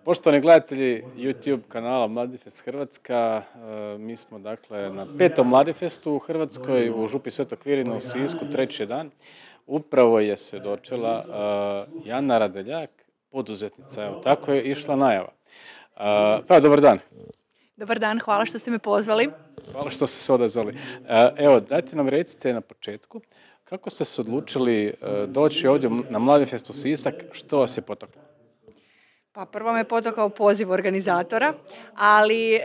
Poštovani gledatelji YouTube kanala Mladifest Hrvatska, mi smo dakle na 5. Mladifestu u Hrvatskoj u župi Svetog Kvirina u Sisku, treći dan. Upravo je se dočela Jana Radeljak, poduzetnica, evo tako je išla najava. Pa dobar dan. Dobar dan, hvala što ste me pozvali. Hvala što ste se odazvali. Evo, dajte nam recite na početku, kako ste se odlučili doći ovdje na Mladifest u Sisak, što vas je potaklo? Pa prvo me potakao poziv organizatora, ali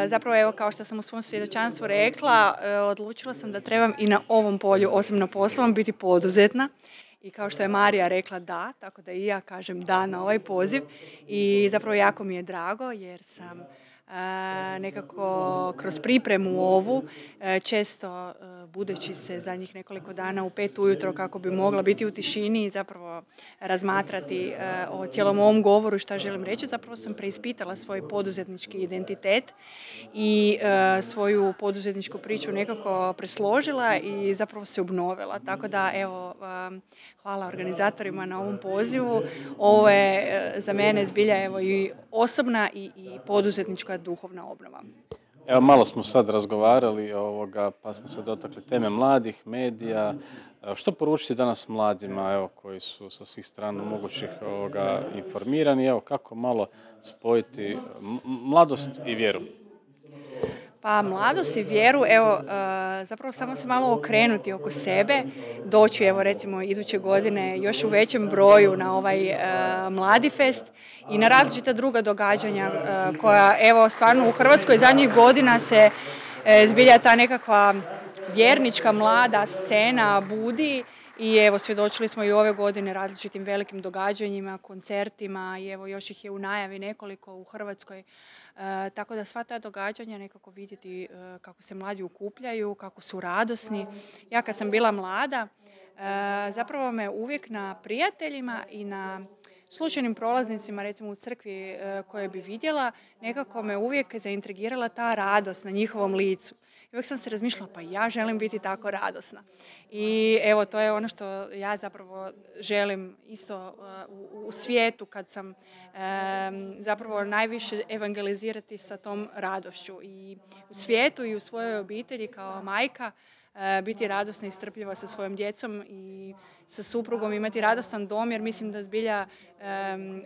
zapravo evo kao što sam u svom svjedočanstvu rekla, odlučila sam da trebam i na ovom polju, osim na poslovnom, biti poduzetna. I kao što je Marija rekla da, tako da i ja kažem da na ovaj poziv. I zapravo jako mi je drago jer sam nekako kroz pripremu ovu, često budeći se zadnjih nekoliko dana u 5 ujutro kako bi mogla biti u tišini i zapravo razmatrati o cijelom ovom govoru šta želim reći, zapravo sam preispitala svoj poduzetnički identitet i svoju poduzetničku priču nekako presložila i zapravo se obnovila. Tako da evo, hvala organizatorima na ovom pozivu. Ovo je za mene zbilja evo i osobna i poduzetnička duhovna obnova. Evo malo smo sad razgovarali pa smo se dotakli teme mladih, medija. Što poručiti danas mladima evo, koji su sa svih strana mogućih informirani? Evo, kako malo spojiti mladost i vjeru? Pa mladost i vjeru, evo, zapravo samo se malo okrenuti oko sebe, doći evo recimo iduće godine još u većem broju na ovaj Mladifest i na različita druga događanja koja evo stvarno u Hrvatskoj zadnjih godina se zbilja ta nekakva vjernička mlada scena budi. I evo, svjedočili smo i ove godine različitim velikim događanjima, koncertima i evo još ih je u najavi nekoliko u Hrvatskoj. Tako da sva ta događanja nekako vidjeti kako se mladi okupljaju, kako su radosni. Ja kad sam bila mlada, zapravo me uvijek na prijateljima i na slučajnim prolaznicima, recimo u crkvi koje bi vidjela, nekako me uvijek zaintrigirala ta radost na njihovom licu. I uvijek sam se razmišljala, pa ja želim biti tako radosna. I evo, to je ono što ja zapravo želim isto u svijetu kad sam zapravo najviše evangelizirati sa tom radošću. I u svijetu i u svojoj obitelji kao majka biti radosna i strpljiva sa svojom djecom i sa suprugom, imati radostan dom, jer mislim da zbilja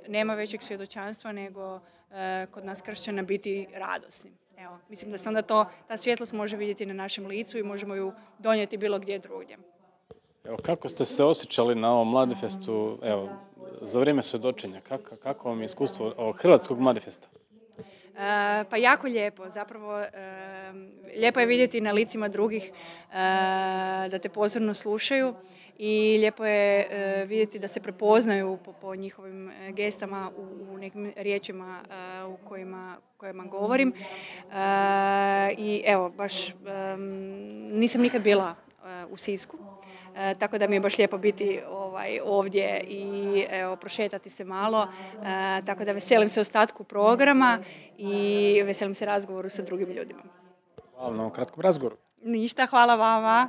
nema većeg svjedočanstva nego kod nas kršćana biti radosni. Evo, mislim da se onda ta svjetlost može vidjeti na našem licu i možemo ju donijeti bilo gdje drugdje. Evo, kako ste se osjećali na ovom Mladifestu, evo, za vrijeme svjedočenja? Kako vam je iskustvo ovog hrvatskog Mladifesta? Pa jako lijepo, zapravo lijepo je vidjeti na licima drugih da te pozorno slušaju i lijepo je vidjeti da se prepoznaju po njihovim gestama u nekim riječima u kojima govorim. I evo, baš nisam nikad bila u Sisku, tako da mi je baš lijepo biti ovdje i evo, prošetati se malo, tako da veselim se ostatku programa i veselim se razgovoru sa drugim ljudima. Hvala na ovom kratkom razgovoru. Ništa, hvala vama.